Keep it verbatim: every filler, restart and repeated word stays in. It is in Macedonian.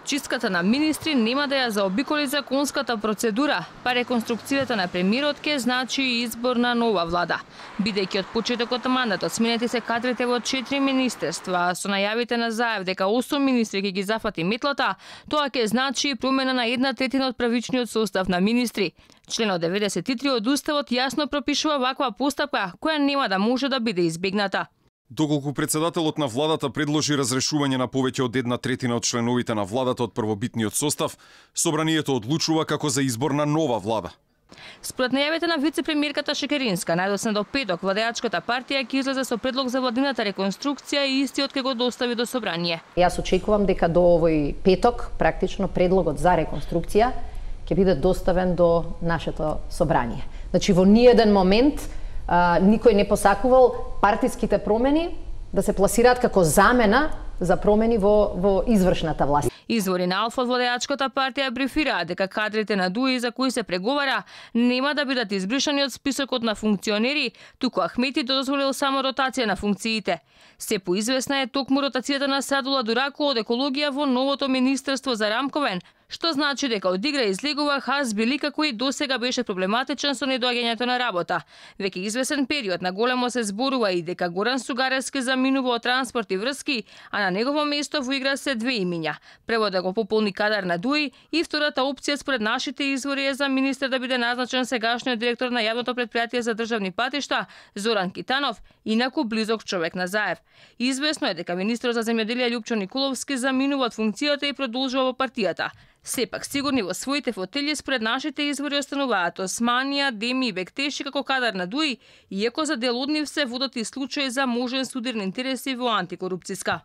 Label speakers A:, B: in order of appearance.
A: Чистката на министри нема да ја заобиколи законската процедура, па реконструкцијата на премиерот ќе значи и избор на нова влада. Бидејќи од почетокот на мандатот сменети се кадрите во четири министерства, со најавите на Заев дека осум министри ќе ги зафати метлата, тоа ќе значи и промена на една третина од правичниот состав на министри. Членот деветдесет и три од Уставот јасно пропишува ваква постапка, која нема да може да биде избегната.
B: Доколку председателот на владата предложи разрешување на повеќе од една третина од членовите на владата од првобитниот состав, собранието одлучува како за избор на нова влада.
A: Според најавите на вице-премиерката Шекеринска, најдосна до петок владеачката партија ќе излезе со предлог за владината реконструкција и истиот ќе го достави до собрание.
C: Јас очекувам дека до овој петок практично предлогот за реконструкција ќе биде доставен до нашето собрание. Значи во ниеден момент а, никој не посакувал партиските промени да се пласираат како замена за промени во, во извршната власт.
A: Извори на Алфа од владеачката партија брифираат дека кадрите на ДУИ за кои се преговара нема да бидат избришани од списокот на функционери, туку Ахмети дозволил само ротација на функциите. Се поизвестна е токму ротацијата на Садула Дурако од екологија во новото Министерство за Рамковен, што значи дека од игра излегува Хас Билика кој досега беше проблематичен со недоаѓањето на работа. Веќе известен период на големо се зборува и дека Горан Сугаревски заминува од транспорт и врски, а на негово место во игра се две имиња. Прво да го пополни кадар на ДУИ и втората опција според нашите извори е за министер да биде назначен сегашниот директор на јавното претпријатие за државни патишта Зоран Китанов, инаку близок човек на Заев. Известно е дека министерот за земјоделие Љупчо Николовски заминува од функцијата и продолжува во партијата. Сепак сигурни во своите фотели според нашите извори остануваат Османија, Деми и Бектеши како кадар на ДУИ, иако за дел од нив се водат и случаи за можен судир на интереси во антикорупцијска.